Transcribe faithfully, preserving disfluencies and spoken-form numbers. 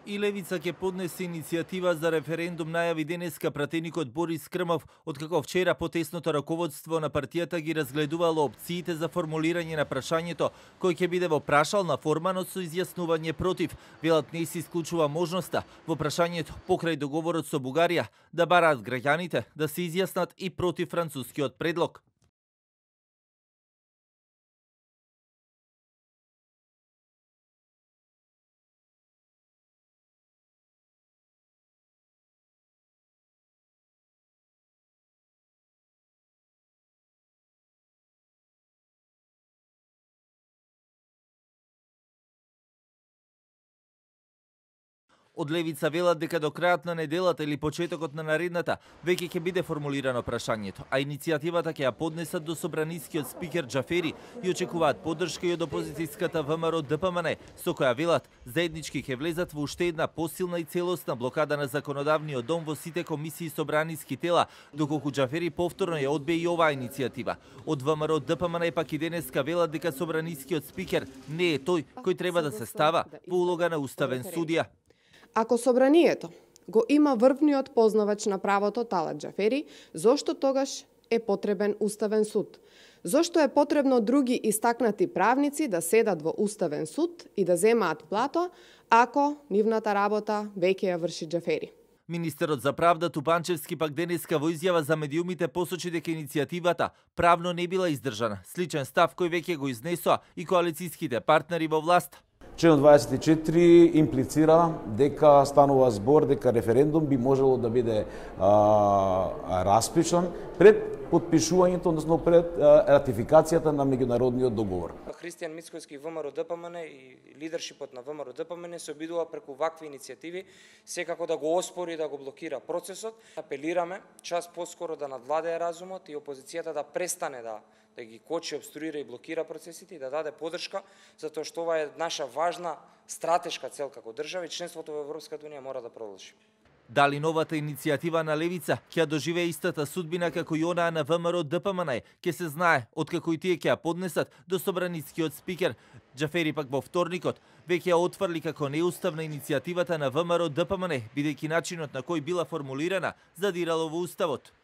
И Левица ќе поднесе иницијатива за референдум, најави денеска пратеникот Борис Крмов, откако вчера потесното раководство на партијата ги разгледувало опциите за формулирање на прашањето, кој ќе биде во прашална форма, но со изјаснување против. Велат не се исклучува можноста во прашањето покрај договорот со Бугарија да бараат граѓаните да се изјаснат и против францускиот предлог. Од Левица велат дека до крајот на неделата или почетокот на наредната веќе ќе биде формулирано прашањето, а иницијативата ќе ја поднесат до собранискиот спикер Џафери и очекуваат поддршка и од опозицијската ВМРО Д П М Н, со која велат заеднички ќе влезат во уште една посилна и целосна блокада на законодавниот дом во сите комисии собраниски тела, доколку Џафери повторно ја одбие и оваа иницијатива. Од ВМРО Д П М Н пак и денеска велат дека собранискиот спикер не е тој кој треба да се става во улога на уставен судија. Ако собранието го има врвниот познавач на правото Талат Џафери, зошто тогаш е потребен уставен суд? Зошто е потребно други истакнати правници да седат во уставен суд и да земаат плато, ако нивната работа веќе ја врши Џафери? Министерот за правда Тупанчевски пак денеска во изјава за медиумите посочи дека иницијативата правно не била издржана. Сличен став кој веќе го изнесоа и коалицијските партнери во власт. Член дваесет и четири имплицира дека станува збор дека референдум би можело да биде а, распишан пред подпишувањето, односно пред а, ратификацијата на меѓународниот договор. Христијан Мицкојски ВМРО Д П М Н и лидершипот на ВМРО Д П М Н се обидува преку вакви иницијативи секако да го оспори и да го блокира процесот. Апелираме час поскоро да надвладее разумот и опозицијата да престане да да ги кочи, обструира и блокира процесите и да даде поддршка, затоа што ова е наша важна стратешка цел како држава и членството во Европската унија мора да продолжи. Дали новата иницијатива на Левица ќе доживее истата судбина како и онаа на ВМРО Д П М Н, ќе се знае откако и тие ќе ја поднесат до собранискиот спикер. Џафери пак во вторникот веќе ја отфрли како неуставна иницијативата на ВМРО Д П М Н, бидејќи начинот на кој била формулирана задирало во уставот.